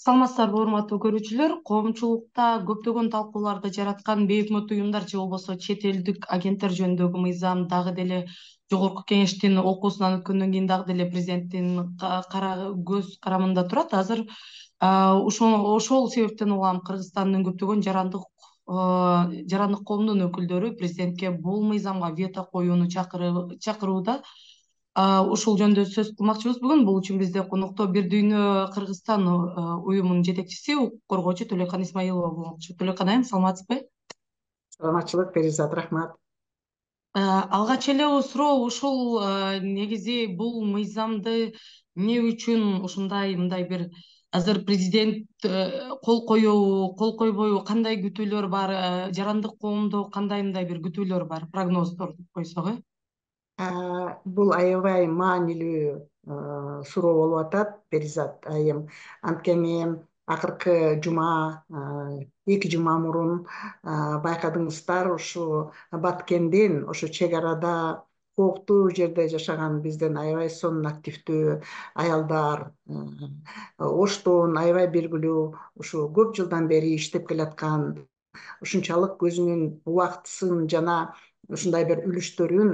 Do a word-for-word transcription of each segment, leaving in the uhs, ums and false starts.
Саламатсыздарбы, урматтуу көрүүчүлөр. Коомчулукта көптөгөн талкууларды жараткан бейөкмөттүк уюмдар же болбосо чет элдик агенттер жөнүндөгү мыйзам дагы деле жогорку кеңештин окуусунан өткөндөн кийин дагы деле президенттин кара көз карамында турат. Азыр ошол ошол себептен улам Кыргызстандын көптөгөн жарандык жарандык коомдун өкүлдөрү президентке бул мыйзамга вето коюуну чакырууда. Ушул жөнүндө сөз кылмакчыбыз бүгүн. Бул үчүн бизде конокто Бир дүйнө Кыргызстан уюмунун жетекчиси, укук коргоочу Төлөкан Исмаилова болмокчу. Төлөкан айым, саламатсызбы? Саламатчылык, Перизат, рахмат. Алгач эле суроо ушул, негизи бул мыйзамды эмне үчүн ушундай мындай бир азыр президент кол коебу, кол койбойбу, кандай күтүүлөр бар, жарандык коомдо кандай мындай бир күтүүлөр бар, прогноздор деп койсок э? Бул аябай маанилүү суроо болуп атат, Перизат айым. Анткени акыркы жума, эки жума мурун байкадыңыздар, ушу Баткенден, ошо чек арада кооптуу жерде жашаган бизден аябай сонун активдүү аялдар, Оштон аябай белгилүү, ушу көп жылдан бери иштеп келаткан, ушунчалык өзүнүн убактысын жана ушундай бир үлүштөрүн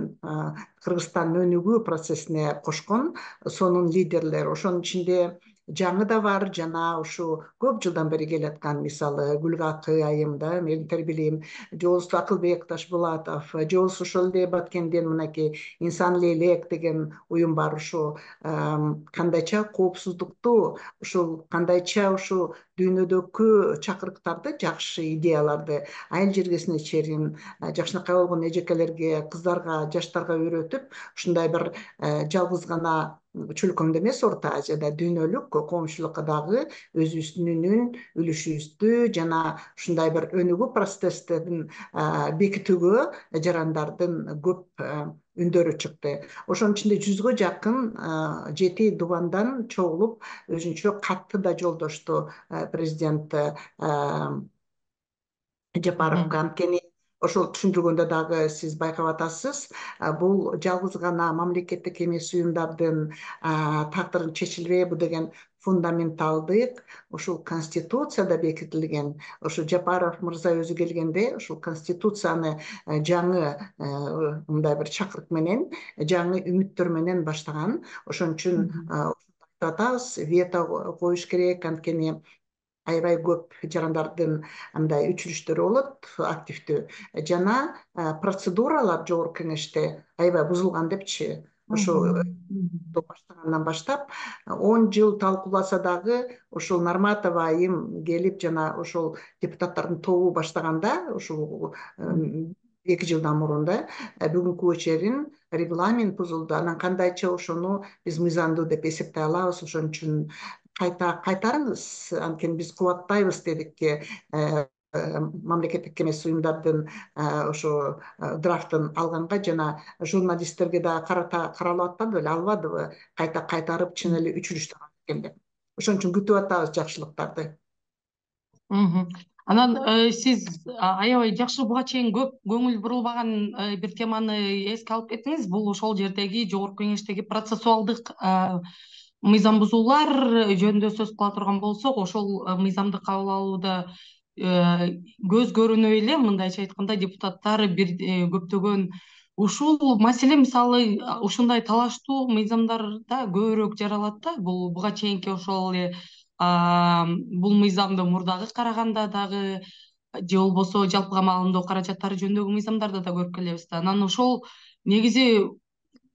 Кыргызстандын өнүгүү процессине кошкон сонун лидерлер. Ошонун ичинде жаңы да бар, жана ушу көп жылдан бери келаткан, мисалы Гүлгакы айым да, мен билем, же болбосо Акылбек Ташбулатов, же болбосо ошол эле Баткенден мынакей Инсан Лейлек деген уюм бар. Ушу кандайча коопсуздукту, ушул кандайча ушу дүйнөдөгү чакырыктарды, жакшы идеяларды айыл жергесине чейин жакшынакай болгон эжекелерге, кыздарга, жаштарга үйрөтүп, ушундай бир жалгыз гана чөлкөмдө эмес, орто Азияда дүйнөлүк коомчулукка дагы өзүбүздүн үлүшүбүздү жана ушундай бир өнүгүү процесстерин бекитүүгө жарандардын көп үндөрү чыкты. Ошонун ичинде жүзгө жакын жети дубандан чогулуп, өзүнчө катты да жолдошту президент Жапаровго. Анткени ошол түшүндүргөндө дагы сиз байкап атасыз, бул жалгыз гана мамлекеттик эмес уюмдардын тагдырын чечилбейбу деген фундаменталдык ушул Конституцияда бекитилген. Ошо Жапаров мырза өзү келгенде ушул Конституцияны жаңы мындай бир чакырык менен, жаңы үмүттөр менен баштаган. Ошон үчүн айтып атабыз, вето коюш керек, анткени аябай көп жарандардын мындай үчүрүштөрү болот, активдүү. Жана процедуралар жогорку кеңеште аябай бузулган депчи. Ошо баштагандан баштап он жыл талкууласа дагы ушул Нарматова айым келип жана ошол депутаттардын тобу баштаганда, ушул эки жылдан мурун да, бүгүнкүгө чейин регламент бузулду. Анан кандайча ошону биз мыйзамдуу деп эсептей алабыз. Ошон үчүн кайта кайтарыңыз, анткени биз кубаттайбыз дедик, мамлекеттик эмес уюмдардын ошо драфтын алганга, жана журналисттерге да карата каралып атпады беле, албадыбы кайта кайтарып чын эле үчүрүштөр экен деп. Ошон үчүн күтүп атабыз жакшылыктарды. Анан сиз аябай жакшы, буга чейин көп көңүл бурулбаган бир теманы эске алып кеттиңиз. Бул ошол жердеги жогорку кеңештеги процессуалдык мыйзам бузуулар жөнүндө сөз кыла турган болсок, ошол мыйзамды кабыл алууда көз көрүнөй эле, мындайча айтканда, депутаттар бир көптөгөн ушул маселе, мисалы, ушундай талаштуу мыйзамдарда көбүрөөк жаралат да. Бул буга чейинки ошол эле бул мыйзамды мурдагы караганда дагы, же болбосо жалпыга маалымдоо каражаттары жөнүндөгү мыйзамдарда да көрүп келебиз да. Анан ошол негизи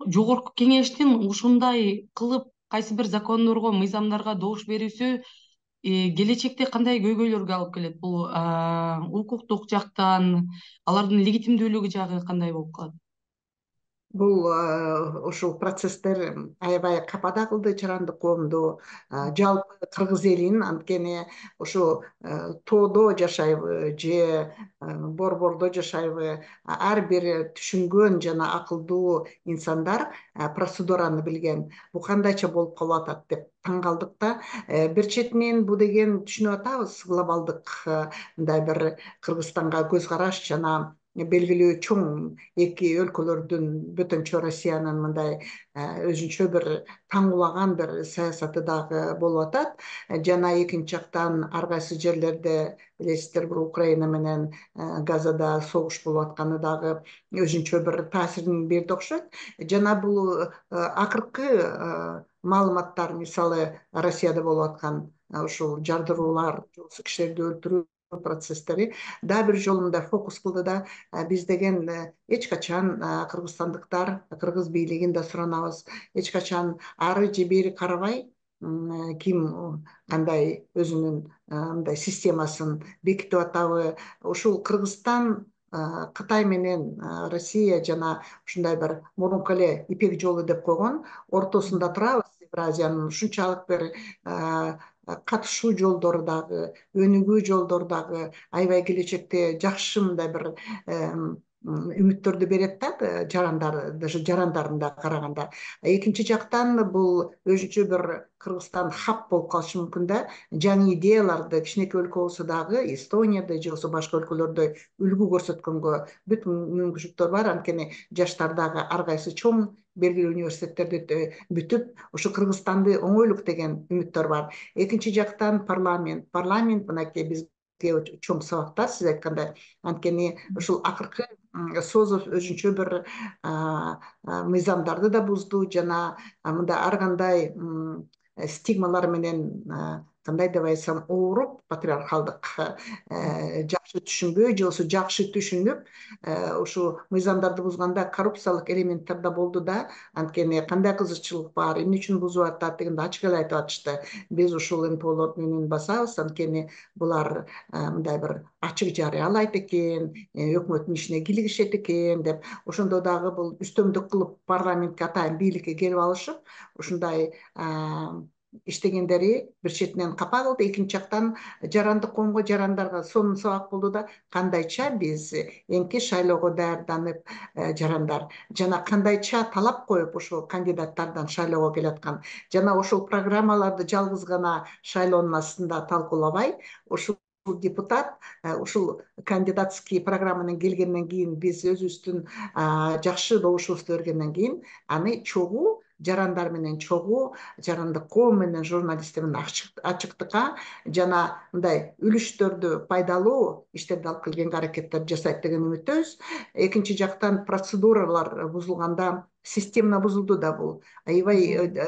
жогорку кеңештин ушундай кылып кайсы бир закондорго, мыйзамдарга добуш берүүсү келечекте кандай көйгөйлөргө алып келет? Бул укуктук жактан, алардын легитимдүүлүгү жагы кандай болуп калат? Бул ушул процесстер аябай капада кылды жарандык коомду, жалпы кыргыз элин. Анткени ушу тоодо жашайбы же борбордо жашайбы, ар бир түшүнгөн жана акылдуу инсандар процедураны билген. Бул кандайча болуп калып атат деп таң калдык да. Бир четинен бул деген түшүнүп атабыз, глобалдык мындай бир Кыргызстанга көз караш жана белгилүү чоң эки өлкөлөрдүн бөтөнчө Россиянын мындай өзүнчө бир таңуулаган бир саясаты дагы болуп атат. Жана экинчи жактан ар кайсы жерлерде билесиздер, бир Украина менен Газада согуш болуп атканы дагы өзүнчө бир таасирин берди окшойт. Жана бул акыркы маалыматтар, мисалы Россияда болуп аткан ушул жардыруулар, кишилерди өлтүрүү процесстери дагы бир жолу мындай фокус кылды да, биз деген эч качан кыргызстандыктар, кыргыз бийлигин да суранабыз, эч качан ары же бери карабай, ким кандай өзүнүн мындай системасын бекитип атабы, ушул Кыргызстан Кытай менен Россия жана ушундай бир мурунку эле Ипек жолу деп койгон ортосунда турабыз. Евразиянын ушунчалык бир катышуу жолдору дагы, өнүгүү жолдору дагы аябай келечекте жакшы мындай бир үмүттөрдү берет да, жарандар, даже жарандарын да караганда. Экинчи жактан бул өзүнчө бир Кыргызстан хаб болуп калышы мүмкүн да, жаңы идеяларды кичинекей өлкө болсо дагы Эстонияда же болбосо башка өлкөлөрдө үлгү көрсөткөнгө бүт мүмкүнчүлүктөр бар. Анткени жаштар дагы ар кайсы чоң белгилүү университеттерди бүтүп, ушу Кыргызстанды оңойлук деген үмүттөр бар. Экинчи жактан парламент, парламент мынакей бизге чоң сабактар, сиз айткандай. Анткени ушул акыркы Созов өзүнчө бир мыйзамдарды да бузду, жана мындай ар кандай стигмалар менен, кандай деп айтсам, ооруп, патриархалдык жакшы түшүнбөй же болбосо жакшы түшүнүп, ушу мыйзамдарды бузганда коррупциялык элементтер да болду да. Анткени кандай кызыкчылык бар, эмне үчүн бузуп атат дегенде ачык эле айтып атышты. Биз ушул эн пэ олорду менен басабыз, анткени булар мындай бир ачык жарыялайт экен, өкмөттүн ишине кийлигишет экен деп. Ошондо дагы бул үстөмдүк кылып парламентке атайын бийликке келип алышып, ушундай иштегендери бир четинен капа кылды. Экинчи жактан жарандык коомго, жарандарга сонун сабак болду да, кандайча биз эмки шайлоого даярданып, жарандар жана кандайча талап коюп ошол кандидаттардан шайлоого келаткан, жана ошол программаларды жалгыз гана шайлоонун астында талкуулабай, ушул депутат ушул кандидатский программанын келгенден кийин, биз өзүбүздүн жакшы добушубузду бергенден кийин, аны чогуу жарандар менен, чогуу жарандык коом менен, журналисттер менен ачыктыкка жана мындай үлүштөрдү пайдалуу иштерди алып келгенге аракеттер жасайт деген үмүттөбүз. Экинчи жактан процедуралар бузулганда, система бузулду да бул. Аябай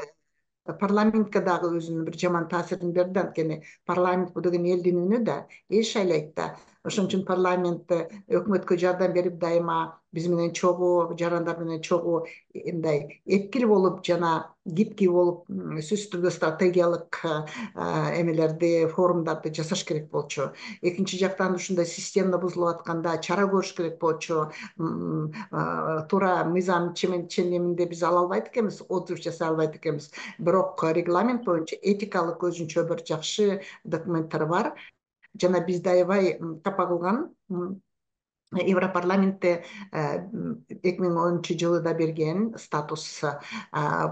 парламентке дагы өзүнүн бир жаман таасирин берди. Анткени парламент бул деген элдин үнү да, эл шайлайт да. Ошон үчүн парламент өкмөткө жардам берип, дайыма биз менен чогуу, жарандар менен чогуу мындай эпкил болуп жана гибкий болуп, сөзсүз түрдө стратегиялык эмелерди, форумдарды жасаш керек болчу. Экинчи жактан ушундай система бузулуп атканда чара көрүш керек болчу. Туура мыйзам ченеминде биз ала албайт экенбиз, отзыв жасай албайт экенбиз. Бирок регламент боюнча этикалык өзүнчө бир жакшы документтер бар. Жана бизди аябай капа кылган Европарламентте эки миң онунчу жылы да берген статус,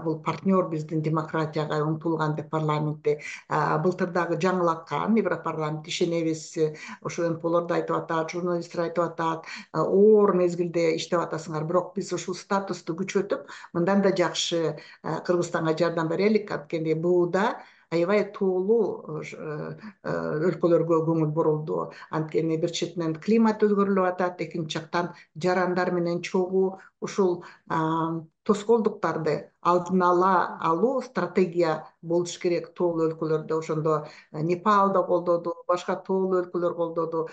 бул партнер биздин демократияга умтулган деп парламентте. Былтыр дагы жаңылаткан Европарламент, ишенебиз, ошо эн пэ олор да айтып атат, журналисттер айтып атат, оор мезгилде иштеп атасыңар, бирок биз ушул статусту күчөтүп, мындан да жакшы Кыргызстанга жардам берелик. Анткени бууда аябай тоолуу өлкөлөргө көңүл бурулду. Анткени бир четинен климат өзгөрүлүп атат, экинчи жактан жарандар менен чогуу ушул тоскоолдуктарды алдын ала алуу стратегия болуш керек тоолуу өлкөлөрдө. Ошондо Непал да колдоду, башка тоолуу өлкөлөр колдоду.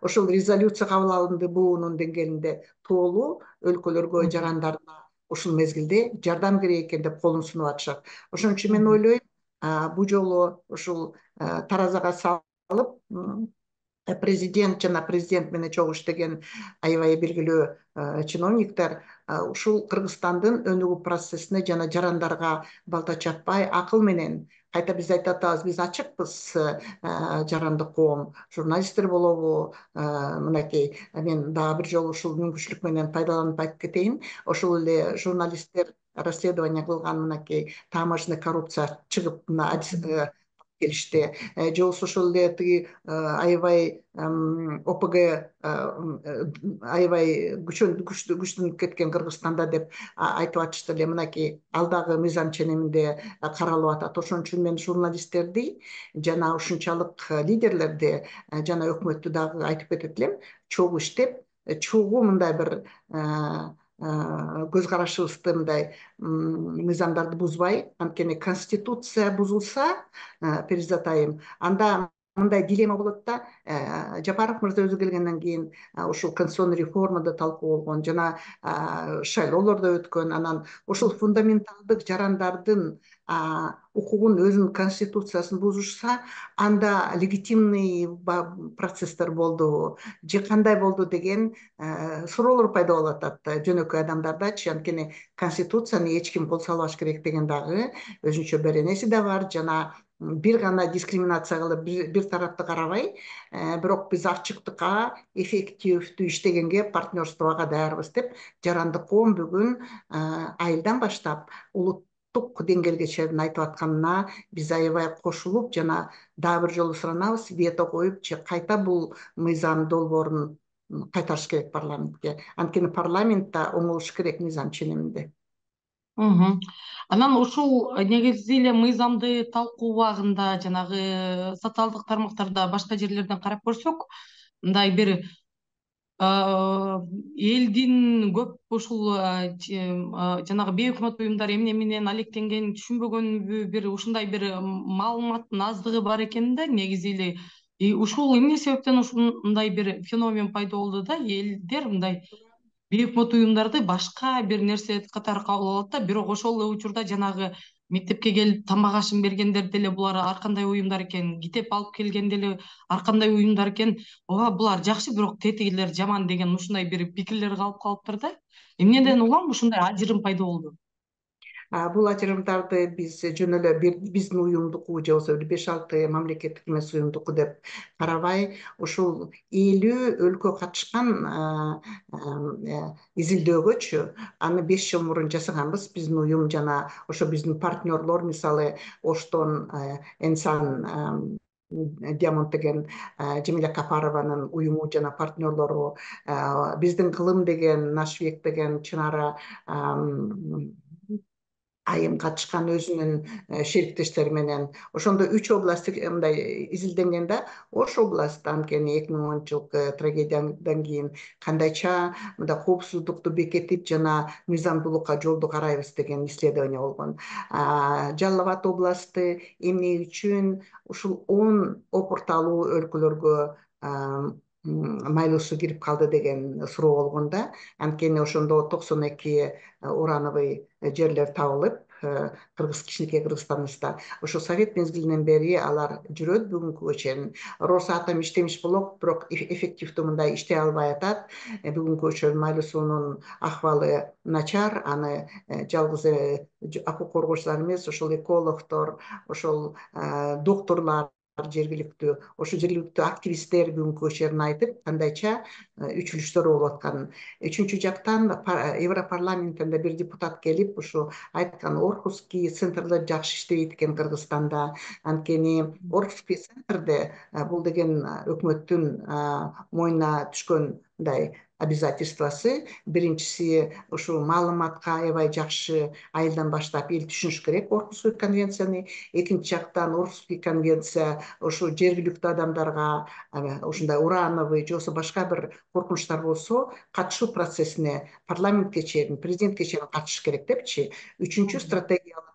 Ошол резолюция кабыл алынды буунун деңгээлинде. Тоолуу өлкөлөргө жарандарына ушул мезгилде жардам керек экен деп колун сунуп атышат. Ошон үчүн мен ойлойм, бу жолу ушул таразага салып, президент жана президент менен чогуу иштеген аябай белгилүү чиновниктер ушул Кыргызстандын өнүгүү процессине жана жарандарга балта чаппай, акыл менен, кайта биз айтып атабыз, биз ачыкпыз, жарандык коом, журналисттер болобу, мынакей, мен дагы бир жолу ушул мүмкүнчүлүк менен пайдаланып айтып кетейин. Ошол эле журналисттер расследование кылган, мынакей таможенный коррупция чыгып келишти. Же болбосо ошол эле тиги аябай ОПГ аябай күчтүү күчтөнүп кеткен Кыргызстанда деп айтып атышты эле. Мынакей алдагы мыйзам ченеминде каралып атат. Ошон үчүн мен журналисттерди жана ушунчалык лидерлерди жана өкмөттү дагы айтып кетет элем, чогуу иштеп, чогуу мындай бир көз карашыбызды мындай мыйзамдарды бузбай, анткени конституция бузулса, Перизат айым, анда мындай дилемма болот да. Жапаров мырза өзү келгенден кийин ушул конституционный реформада талкуу болгон жана шайлоолор да өткөн, анан ошол фундаменталдык жарандардын укугун, өзүнүн конституциясын бузушса, анда легитимный процесстер болдубу же кандай болду деген суроолор пайда болуп атат жөнөкөй адамдардачы. Анткени конституцияны эч ким кол салбаш керек деген дагы өзүнчө беренеси да бар. Жана бир гана дискриминация кылып, бир тарапты карабай, бирок биз ачыктыкка, эффективдүү иштегенге, партнерствого даярбыз деп, жарандык коом бүгүн айылдан баштап улуттук деңгээлге чейин айтып атканына биз аябай кошулуп, жана дагы бир жолу суранабыз, вето коюп же кайта бул мыйзам долбоорун кайтарыш керек парламентке. Анткени парламентте оңолуш керек мыйзам ченеминде. Анан ушул негизи эле мыйзамды талкуу убагында жанагы социалдык тармактарда башка жерлерден карап көрсөк, мындай бир элдин көп ушул жанагы бейөкмөт уюмдар эмне менен алектенгенин түшүнбөгөнбү, бир ушундай бир маалыматтын аздыгы бар экен да негизи эле. Ушул эмне себептен ушундай бир феномен пайда болду да, элдер мындай бейөкмөт уюмдарды башка бир нерсе катары кабыл алат да, бирок ошол эле учурда жанагы мектепке келип тамак ашын бергендер деле булар ар кандай уюмдар экен, китеп алып келген деле ар кандай уюмдар экен, ооба булар жакшы, бирок тетигилер жаман деген ушундай бир пикирлер калып калыптыр да. Эмнеден улам ушундай ажырым пайда болду? Бул ажырымдарды биз жөн эле биздин уюмдуку же болбосо бир беш алты мамлекеттик эмес уюмдуку деп карабай, ушул элүү өлкө катышкан изилдөөгөчү аны беш жыл мурун жасаганбыз биздин уюм жана ошо биздин партнерлор, мисалы Оштон Энсан Диамонд деген Жемиля Капарованын уюму жана партнерлору, биздин Кылым деген, Нашбек деген Чынара айым катышкан өзүнүн шериктештери менен. Ошондо үч област мындай изилденген да. Ош областы, анткени эки миң онунчу жылкы трагедиядан кийин кандайча мындай коопсуздукту бекетип жана мыйзамдуулукка жолду карайбыз деген исследование болгон. Жалал Абад областы эмне үчүн ушул он опурталуу өлкөлөргө майлуусу кирип калды деген суроо болгон да. Анткени ошондо токсон эки урановый жерлер табылып, Кыргыз кичинекей Кыргызстаныбызда. Ошо Совет мезгилинен бери алар жүрөт бүгүнкүгө чейин. Росатом иштемиш болот, бирок эффективдүү мындай иштей албай атат. Бүгүнкүгө чейин майлуусунун акыбалы начар, аны жалгыз акуу коргоочулар эмес, ошол экологдор, ошол докторлор, жергиликтүү, ошо жергиликтүү активисттер бүгүнкүгө чейин айтып, кандайча үчүлүштөр болуп атканын. Үчүнчү жактан Европарламентинде бир депутат келип ушу айткан, Орхусский центрлер жакшы иштебейт экен Кыргызстанда. Анткени Орхусский центрде бул деген өкмөттүн мойнуна түшкөн мындай обязательствосы. Биринчиси ушу маалыматка аябай жакшы айылдан баштап эл түшүнүш керек Орхусский конвенцияны. Экинчи жактан Орхусский конвенция ушу жергиликтүү адамдарга ушундай урановый же болбосо башка бир коркунучтар болсо катышуу процессине парламентке чейин, президентке чейин катышыш керек депчи. Үчүнчү стратегиялык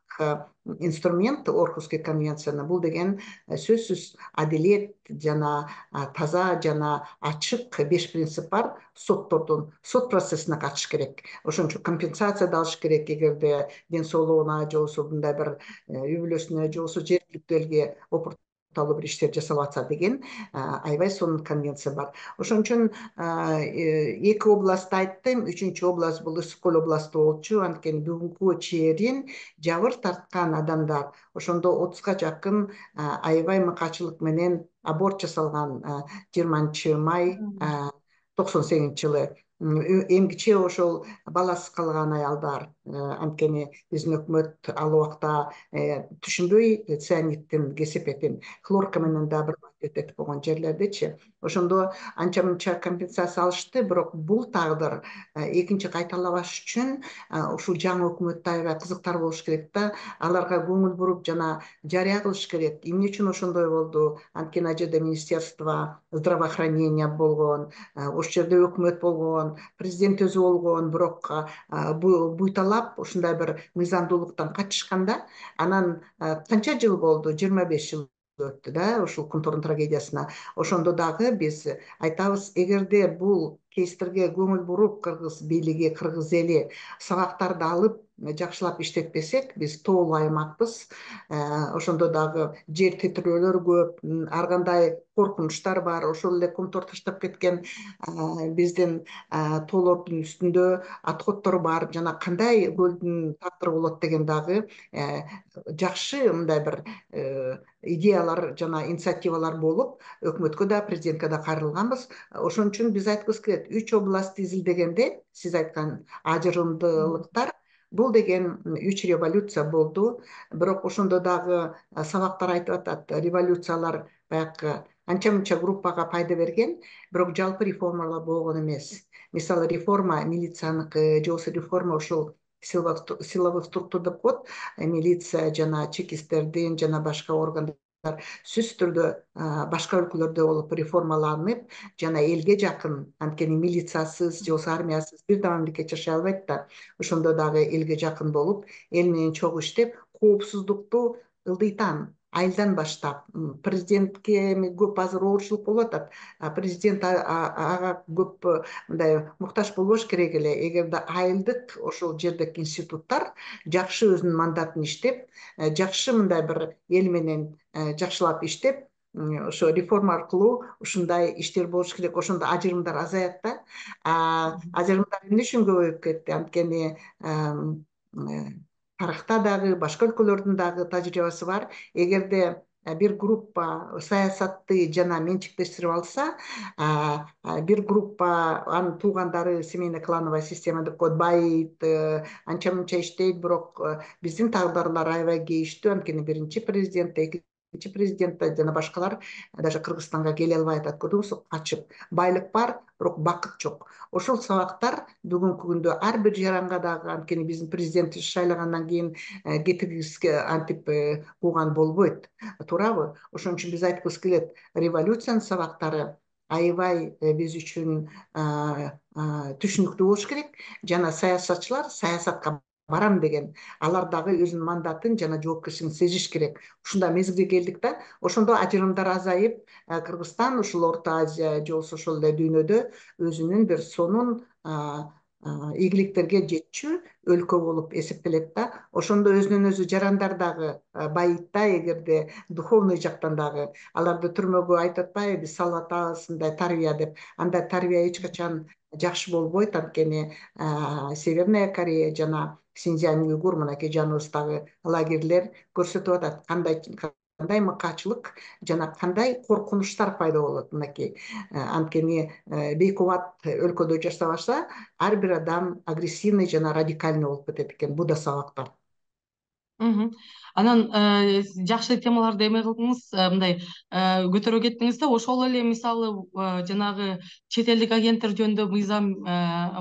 инструмент Орхусский конвенцияны бул деген сөзсүз адилет жана таза жана ачык беш принцип бар. Соттордун сот процессине катышыш керек. Ошон үчүн компенсация да алыш керек эгерде ден соолугуна же болбосо мындай бир үй бүлөсүнө же болбосо жергиликтүү элге опурталуу бир иштер жасалып атса деген аябай сонун конвенция бар. Ошон үчүн эки областты айттым, үчүнчү област бул Ысык көл областы болчу. Анткени бүгүнкүгө чейин жабыр тарткан адамдар, ошондо отузга жакын аябай мыкаачылык менен аборт жасалган жыйырманчы май токсон сегизинчи жылы. эмгиче ошол баласыз калган аялдар, анткени биздин өкмөт ал убакта түшүнбөй цианиттин кесепетин хлорка менен да бир өтөтүп койгон жерлердечи ошондо анча мынча компенсация алышты. Бирок бул тагдыр экинчи кайталабаш үчүн ушул жаңы өкмөттө аябай кызыктар болуш керек да, аларга көңүл буруп жана жарыя кылыш керек. Эмне үчүн ошондой болду? Анткени ал жерде министерство здравоохранения болгон, ошол жерде өкмөт болгон, президент өзү болгон, бирок буйталап ушундай бир мыйзамдуулуктан качышканда анан канча жыл болду? жыйырма беш жыл өттү да ушул Кунтурдун трагедиясына. Ошондо дагы биз айтабыз, эгерде бул кейстерге көңүл буруп кыргыз бийлиги, кыргыз эли сабактарды алып жакшылап иштетпесек, биз тоолуу аймакпыз. Ошондо дагы жер титирөөлөр көп, ар кандай коркунучтар бар. Ошол эле Кунтур таштап кеткен биздин тоолордун үстүндө отходдор бар. Жана кандай көлдүн тагдыры болот деген дагы жакшы мындай бир идеялар жана инициативалар болуп, өкмөткө да, президентке да кайрылганбыз. Ошон үчүн биз айткыбыз келет, үч область изилдегенде сиз айткан ажырымдуулуктар, бул деген үч революция болду. Бирок ошондо дагы сабактар айтып атат, революциялар баягы анча мынча группага пайда берген, бирок жалпы реформалар болгон эмес. Мисалы, реформа милицияныкы же болбосо реформа ушул силовых структур деп коет, милиция жана чекисттердин жана башка органдар сөзсүз түрдө башка өлкөлөрдө болуп реформаланып жана элге жакын, анткени милициясыз же болбосо армиясыз бир да мамлекет жашай албайт да. Ошондо дагы элге жакын болуп, эл менен чогуу иштеп, коопсуздукту ылдыйтан айылдан баштап, президентке көп азыр оорчулук болуп атат. Президент ага көп мындай муктаж болбош керек эле. Эгерде айылдык ошол жердеги институттар жакшы өзүнүн мандатын иштеп, жакшы мындай бир эл менен жакшылап иштеп, ошо реформа аркылуу ушундай иштер болуш керек. Ошондо ажырымдар азаят да. Ажырымдар эмне үчүн көбөйүп кетти? Анткени тарыхта дагы, башка өлкөлөрдүн дагы тажрыйбасы бар. Эгерде бир группа саясатты жана менчиктештирип алса, бир группа анын туугандары семейно-клановая система деп коет, байыйт, анча мынча иштейт, бирок биздин тагдырлар аябай кейиштүү. Анткени биринчи президент, экинчи президент жана башкалар даже Кыргызстанга келе албай атат. Көрдүңүзбү, качып. Байлык бар, бирок бакыт жок. Ошол сабактар бүгүнкү күндө ар бир жаранга дагы, анткени биздин президентти шайлагандан кийин кетиргиске антип кууган болбойт. Туурабы? Ошон үчүн биз айткыбыз келет, революциянын сабактары аябай биз үчүн түшүнүктүү болуш керек. Жана саясатчылар саясатка барам деген, алар дагы өзүнүн мандатын жана жоопкерчилигин сезиш керек. Ушундай мезгилге келдик да. Ошондо ажырымдар азайып, Кыргызстан ушул Орто Азия же болбосо ошол эле дүйнөдө өзүнүн бир сонун ийгиликтерге жетчү өлкө болуп эсептелет да. Ошондо өзүнөн өзү жарандар дагы байыйт да, эгерде духовный жактан дагы. Аларды түрмөгө айтып атпайбы, биз салып атабыз мындай тарбия деп. Андай тарбия эч качан жакшы болбойт, анткени Северная Корея жана Синьцзянь уйгур, мынакей жаныбыздагы лагерлер көрсөтүп атат кандай кандай мыкаачылык жана кандай коркунучтар пайда болот. Мынакей анткени бейкубат өлкөдө жашап алса, ар бир адам агрессивный жана радикальный болуп кетет экен. Бул да сабактар. Анан жакшы темаларды эме кылдыңыз, мындай көтөрө кеттиңиз да. Ошол эле мисалы жанагы чет элдик агенттер жөнүндө мыйзам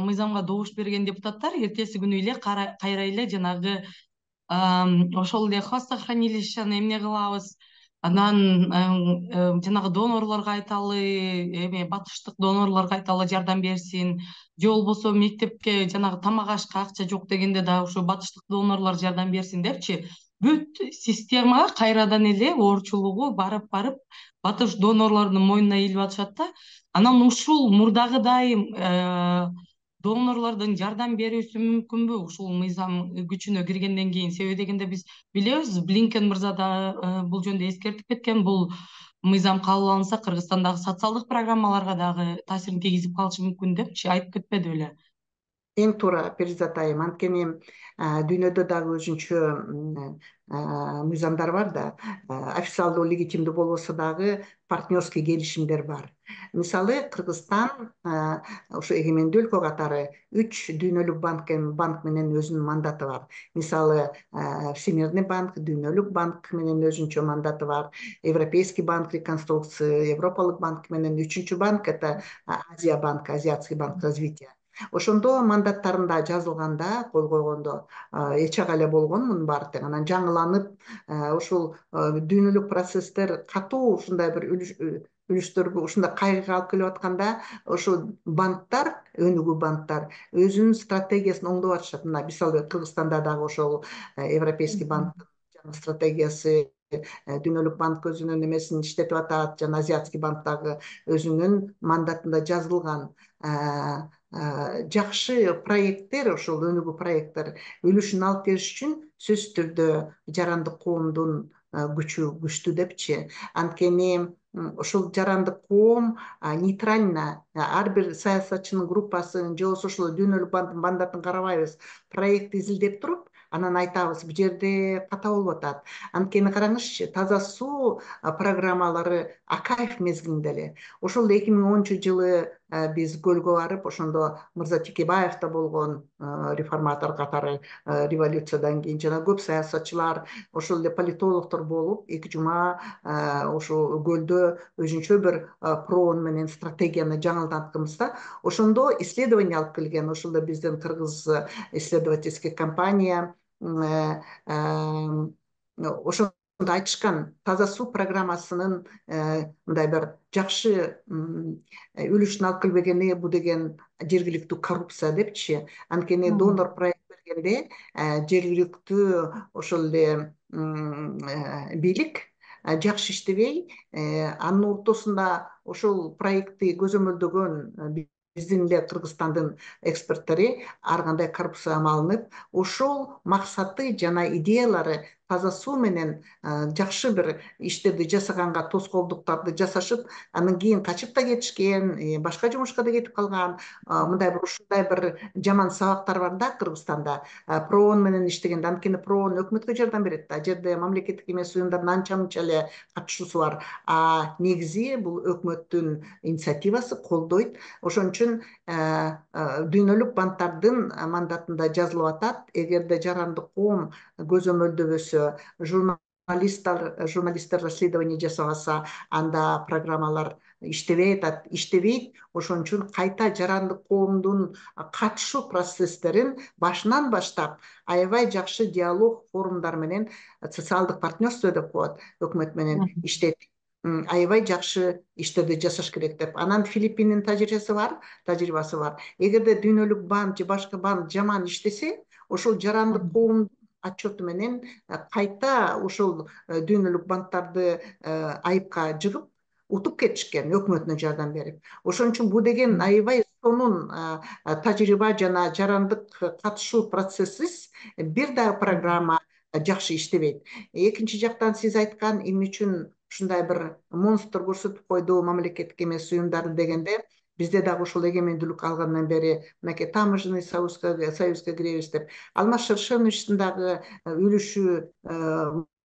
мыйзамга добуш берген депутаттар эртеси күнү эле кайра эле жанагы ошол эле хвостохранилищени эмне кылабыз, анан жанагы донорлорго айталы, эме батыштык донорлорго айталы жардам берсин, же болбосо мектепке жанагы тамак ашка акча жок дегенде дагы ушу батыштык донорлор жардам берсин депчи, бүт системага кайрадан эле оорчулугу барып барып батыш донорлордун мойнуна ийилип атышат да. Анан ушул мурдагыдай донорлордун жардам берүүсү мүмкүнбү ушул мыйзам күчүнө киргенден кийин? Себеби дегенде биз билебиз, Блинкен мырза да бул жөнүндө эскертип кеткен. Бул мыйзам кабыл алынса, Кыргызстандагы социалдык программаларга дагы таасирин тийгизип калышы мүмкүн депчи, айтып кетпеди беле? эң туура Перизат айым. Анткени дүйнөдө дагы өзүнчө мыйзамдар бар да, официалдуу легитимдүү болбосо дагы партнерский келишимдер бар. Мисалы Кыргызстан ошо эгемендүү өлкө катары үч дүйнөлүк банк банк менен өзүнүн мандаты бар. Мисалы Всемирный банк, дүйнөлүк банк менен өзүнчө мандаты бар. Европейский банк реконструкции, Европалык банк менен үчүнчү банк это Азия банк, Азиатский банк развития. Ошондо мандаттарында жазылганда, кол койгондо эч ага эле болгон мунун баары тең. Анан жаңыланып, ушул дүйнөлүк процесстер катуу ушундай бир үлүштөргө ушундай кайгыга алып келип атканда, ошол банктар, өнүгүү банктар өзүнүн стратегиясын оңдоп атышат. Мына мисалы Кыргызстанда дагы ошол Европейский банктын жаңы стратегиясы, дүйнөлүк банк өзүнүн эмесин иштетип атат, жана Азиатский банк дагы өзүнүн мандатында жазылган жакшы проекттер, ошол өнүгүү проекттер үлүшүн алып келиш үчүн сөзсүз түрдө жарандык коомдун күчү күчтүү депчи. Анткени ошол жарандык коом нейтрально ар бир саясатчынын группасын же болбосо ошол дүйнөлүк банктын мандатын карабайбыз, проектти изилдеп туруп, анан айтабыз бул жерде ката болуп атат. Анткени караңызчы, таза суу программалары Акаев мезгилинде эле. Ошол эки миң онунчу жылы биз көлгө барып, ошондо Мырза Текебаев да болгон, реформатор катары революциядан кийин жана көп саясатчылар, ошол эле политологдор болуп, эки жума ошо көлдө өзүнчө бир проон менен стратегияны жаңылдатканбызда, ошондо исследование алып келген. Ошол эле биздин кыргыз исследовательский компания ошондо айтышкан, таза суу программасынын мындай бир жакшы үлүшүн алып келбегени бул деген жергиликтүү коррупция депчи. Анткени донор проект бергенде жергиликтүү ошол эле бийлик жакшы иштебей, анын ортосунда ошол проектти көзөмөлдөгөн биздин эле Кыргызстандын эксперттери ар кандай коррупцияга малынып, ошол максаты жана идеялары таза суу менен жакшы бир иштерди жасаганга тоскоолдуктарды жасашып, андан кийин качып да кетишкен, башка жумушка да кетип калган. Мындай бир ушундай бир жаман сабактар бар да Кыргызстанда проон менен иштегенде. Анткени проон өкмөткө жардам берет да, ал жерде мамлекеттик эмес уюмдардын анча мынча эле катышуусу бар, а негизи бул өкмөттүн инициативасы, колдойт. Ошон үчүн дүйнөлүк банктардын мандатында жазылып атат, эгерде жарандык коом көзөмөлдөбөсө, журналисттер журналисттер расследование жасабаса, анда программалар иштебей атат, иштебейт. Ошон үчүн кайта жарандык коомдун катышуу процесстерин башынан баштап аябай жакшы диалог форумдар менен, социалдык партнерство деп коет, өкмөт менен иштеп, аябай жакшы иштерди жасаш керек деп. Анан Филиппиндин тажрыйбасы бар, тажрыйбасы бар. Эгерде дүйнөлүк банк же башка банк жаман иштесе, ошол жарандык коомдун отчету менен кайта ошол дүйнөлүк банктарды айыпка жыгып утуп кетишкен, өкмөтүнө жардам берип. Ошон үчүн бул деген аябай сонун тажрыйба жана жарандык катышуу процессиз бир дагы программа жакшы иштебейт. Экинчи жактан сиз айткан эмне үчүн ушундай бир монстр көрсөтүп койду мамлекеттик эмес уюмдарды дегенде, бизде дагы ошол эгемендүүлүк алгандан бери мынакей таможенный союзга союзга киребиз деп, Алмаз Шершеновичтин дагы үлүшү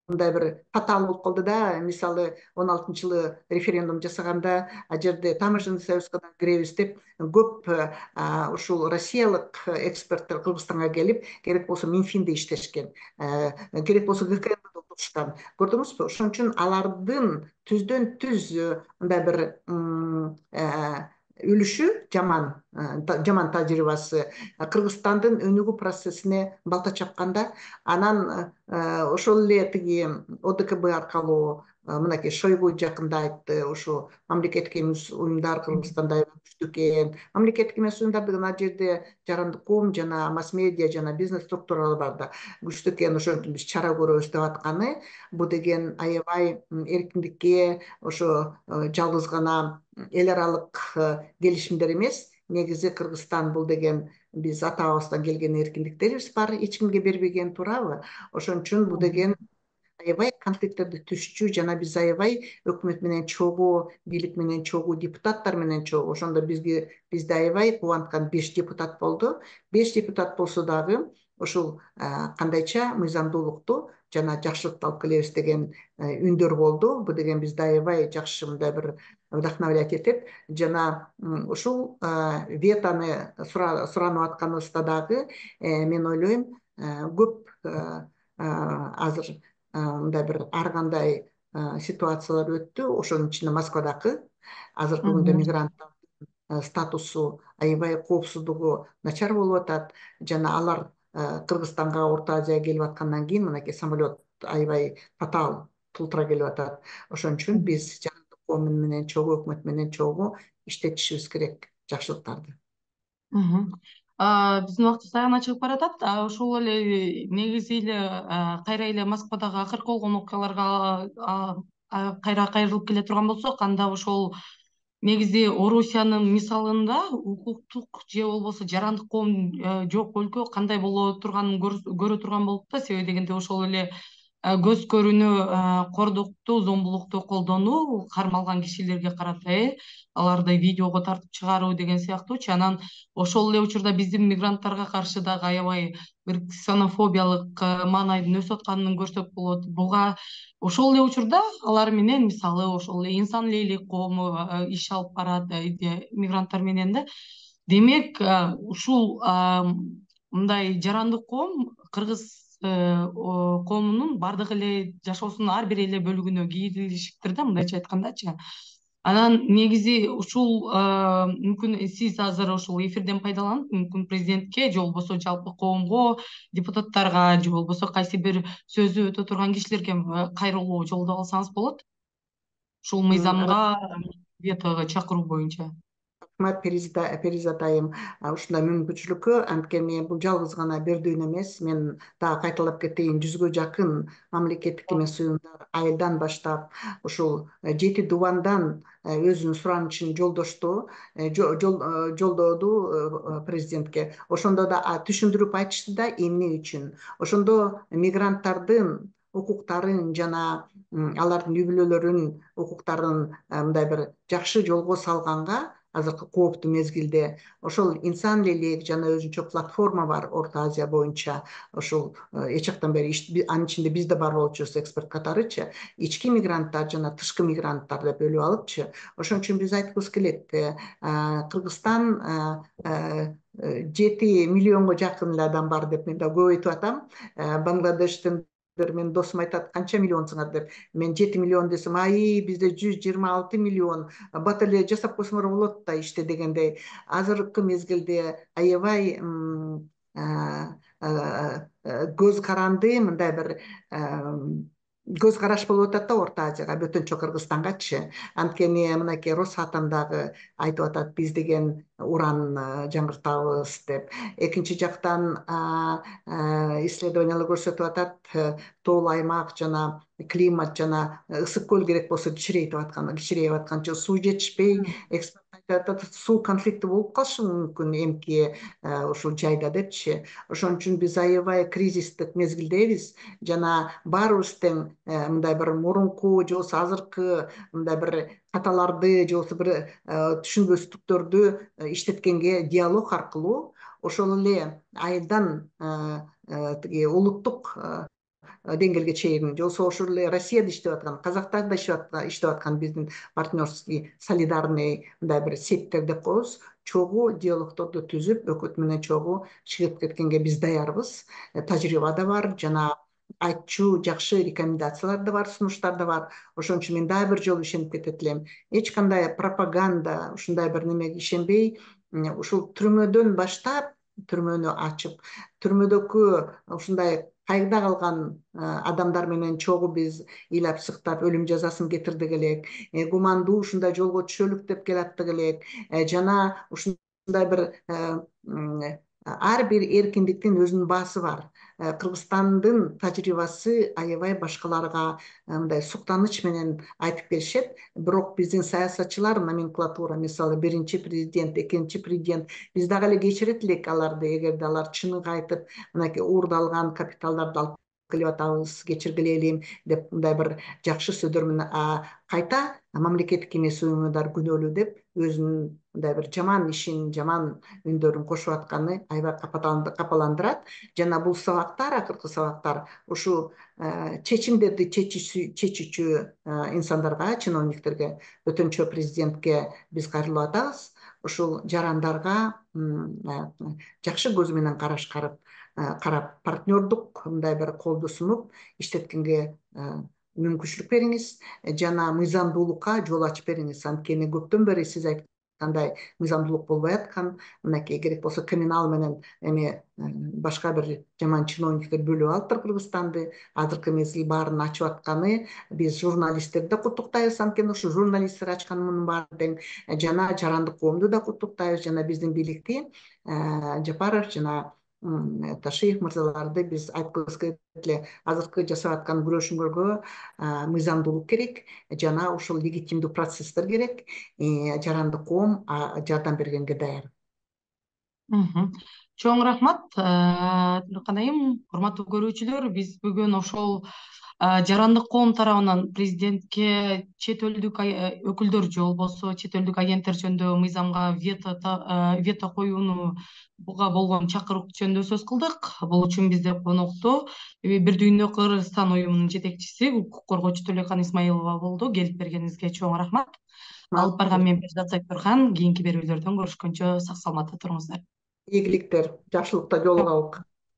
мындай бир татаал болуп калды да. Мисалы он алтынчы жылы референдум жасаганда, ал жерде таможенный союзга да киребиз деп көп ушул россиялык эксперттер Кыргызстанга келип, керек болсо Минфинде иштешкен, керек болсо ГКМде отурушкан. Көрдүңүзбү? Ошон үчүн алардын түздөн түз мындай бир үлүшү жаман, жаман тажрыйбасы Кыргызстандын өнүгүү процессине балта чапканда, анан ошол эле тиги О Д К Б аркылуу мынакей Шойгу жакында айтты, ушу мамлекеттик эмес уюмдар Кыргызстанда күчтүү экен. Мамлекеттик эмес уюмдар деген ал жерде жарандык коом жана масс-медиа жана бизнес структуралар бар да, күчтүү экен. Ошон үчүн биз чара көрөбүз деп атканы, бул деген аябай эркиндикке, ошо жалгыз гана эл аралык келишимдер эмес. Негизи Кыргызстан бул деген биз ата бабабыздан келген эркиндиктерибиз бар, эч кимге бербеген, туурабы? Ошон үчүн бул деген аябай конфликттерди түшчү жана биз аябай өкмөт менен чогуу, бийлик менен чогуу, депутаттар менен чогуу. Ошондо бизге бизде аябай кубанткан беш депутат болду. Беш депутат болсо дагы ушул кандайча мыйзамдуулукту жана жакшылыкты алып келебиз деген үндөр болду. Бул деген бизди аябай жакшы мындай бир вдохновлять этет. Жана ушул ветаны суранып атканыбызда дагы мен ойлойм көп азыр мындай бир ар кандай ситуациялар өттү. Ошонун ичинде Москвадагы азыркы күндө мигранттардын статусу аябай коопсуздугу начар болуп атат. Жана алар Кыргызстанга, Орто Азияга келип аткандан кийин мынакей самолет аябай фатал тултура келип атат. Ошон үчүн биз жарандык коом менен чогуу, өкмөт менен чогуу иштетишибиз керек жакшылыктарды. Биздин убактыбыз аягына чыгып баратат. Ошол эле негизи эле кайра эле Москвадагы акыркы болгон окуяларга кайра кайрылып келе турган болсок, анда ошол негизи Орусиянын мисалында укуктук же болбосо жарандык коом жок өлкө кандай боло турганын көрө турган болуп да. Себеби дегенде ошол эле көз көрүүнү кордукту, зомбулукту колдонуу, кармалган кишилерге карата э аларды видеого тартып чыгаруу деген сыяктуучу. Анан ошол эле учурда биздин мигранттарга каршы дагы аябай бир ксенофобиялык маанайдын өсүп атканын көрсөк болот. Буга ошол эле учурда алар менен мисалы ошол эле инсан лейлек коому иш алып барат мигранттар менен да. Демек ушул мындай жарандык коом кыргыз коомунун бардык эле жашоосунун ар бир эле бөлүгүнө кийлишиптир да, мындайча айткандачы. Анан негизи ушул мүмкүн сиз азыр ушул эфирден пайдаланып, мүмкүн президентке же болбосо жалпы коомго, депутаттарга же болбосо кайсы бир сөзү өтө турган кишилерге кайрылуу жолдоп алсаңыз болот. Ушул мыйзамга ветого чакыруу боюнча. Рахмат Перизат айым ушундай мүмкүнчүлүккө. Анткени бул жалгыз гана бердүүнү эмес, мен дагы кайталап кетейин, жүзгө жакын мамлекеттик эмес уюмдар айылдан баштап ушул жети дубандан өзүнүн суранычын жолдошту, жолдоду президентке. Ошондо да түшүндүрүп айтышты да эмне үчүн. Ошондо мигранттардын укуктарын жана алардын үй бүлөлөрүнүн укуктарын мындай бир жакшы жолго салганга азыркы кооптуу мезгилде ошол инсан лейлек жана өзүнчө платформа бар Орто Азия боюнча. Ошол эч жактан бери анын ичинде биз да бар болчубуз эксперт катарычы, ички мигранттар жана тышкы мигранттар деп бөлүп алыпчы. Ошон үчүн биз айткыбыз келет, Кыргызстан жети миллионго жакын эле адам бар деп мен да көп айтып атам. Бангладештин менин досум айтат, канча миллионсуңар деп. Мен жети миллион десем, ай бизде жүз жыйырма алты миллион, бат эле жасап койсоңор болот да иште дегендей. Азыркы мезгилде аябай көз каранды мындай бир көз караш болуп атат да Орто Азияга, бөтөнчө Кыргызстангачы. Анткени мынакей Росатом дагы айтып атат, биз деген уран жаңыртабыз деп. Экинчи жактан исследованиялар көрсөтүп атат, тоолуу аймак жана климат жана ысык көл керек болсо кичирейип аткан, кичирейип атканчы суу жетишпей, эксперт айтып атат, суу конфликти болуп калышы мүмкүн эмки ушул жайда депчи. Ошон үчүн биз аябай кризистик мезгилдебиз жана баарыбыз тең мындай бир мурунку же болбосо азыркы мындай бир каталарды же болбосо бир түшүнбөстүктөрдү иштеткенге диалог аркылуу ошол эле айылдан тиги улуттук деңгээлге чейин же болбосо ошол эле Россияда иштеп аткан, Казактанда иштеп аткан биздин партнерский, солидарный мындай бир сеттер деп коебуз, чогуу диалогторду түзүп, өкмөт менен чогуу чыгып кеткенге биз даярбыз. Тажрыйба да бар жана айтчу жакшы рекомендациялар да бар, сунуштар да бар. Ошон үчүн мен дагы бир жолу ишенип кетет элем. Эч кандай пропаганда, ушундай бир немеге ишенбей, ушул түрмөдөн баштап, түрмөнү ачып, түрмөдөгү ушундай кайгыда калган адамдар менен чогуу биз ыйлап сыктап өлүм жазасын кетирдик элек, гумандуу ушундай жолго түшөлүк деп келаттык элек, жана ушундай бир ар бир эркиндиктин өзүнүн баасы бар. Кыргызстандын тажрыйбасы аябай башкаларга мындай суктаныч менен айтып келишет. Бирок биздин саясатчылар, номенклатура, мисалы биринчи президент, экинчи президент, биз дагы эле кечирет элек аларды, эгерде алар чыныгы айтып, мынакей уурдалган капиталдарды алып кылып атабыз, кечиргиле деп мындай бир жакшы сөздөр менен кайта мамлекеттик эмес уюмдар күнөөлүү деп өзүнүн мындай бир жаман ишин, жаман үндөрүн кошуп атканы аябай капаландырат. Жана бул сабактар, акыркы сабактар ушул чечимдерди чечүүчү инсандарга, чиновниктерге, өтөнчө президентке биз кайрылып атабыз. Ушул жарандарга жакшы көз менен карашкарып карап, партнердук мындай бир колду сунуп иштеткенге мүмкүнчүлүк бериңиз жана мыйзамдуулукка жол ачып бериңиз. Анткени көптөн бери сиз айткандай мыйзамдуулук болбой аткан, мынакей керек болсо криминал менен эми башка бир жаман чиновниктер бөлүп алыптыр Кыргызстанды. Азыркы мезгил баарын ачып атканы биз журналисттерди да куттуктайбыз, анткени ушу журналисттер ачкан мунун баары тең. Жана жарандык коомду да куттуктайбыз, жана биздин бийликти, Жапаров жана Ташиев мырзаларды биз айткыбыз келет эле. Азыркы жасап аткан күрөшүңөргө мыйзамдуулук керек жана ушул легитимдүү процесстер керек. Жарандык коом жардам бергенге даяр. Чоң рахмат, Нуркан айым. Урматтуу көрүүчүлөр, биз бүгүн ошол жарандык коом тарабынан президентке чет элдик өкүлдөр же болбосо чет элдик агенттер жөнүндө мыйзамга вето коюунуга болгон чакыруу жөнүндө сөз кылдык. Бул үчүн бизде конокто Бир дүйнө Кыргызстан уюмунун жетекчиси, укук коргоочу Төлөкан Исмаилова болду. Келип бергениңизге чоң рахмат. Алып барган мен Перизат Зайкберхан. Кийинки берүүлөрдөн көрүшкөнчө сак саламатта туруңуздар. Ийгиликтер, жакшылыкта жолугабык.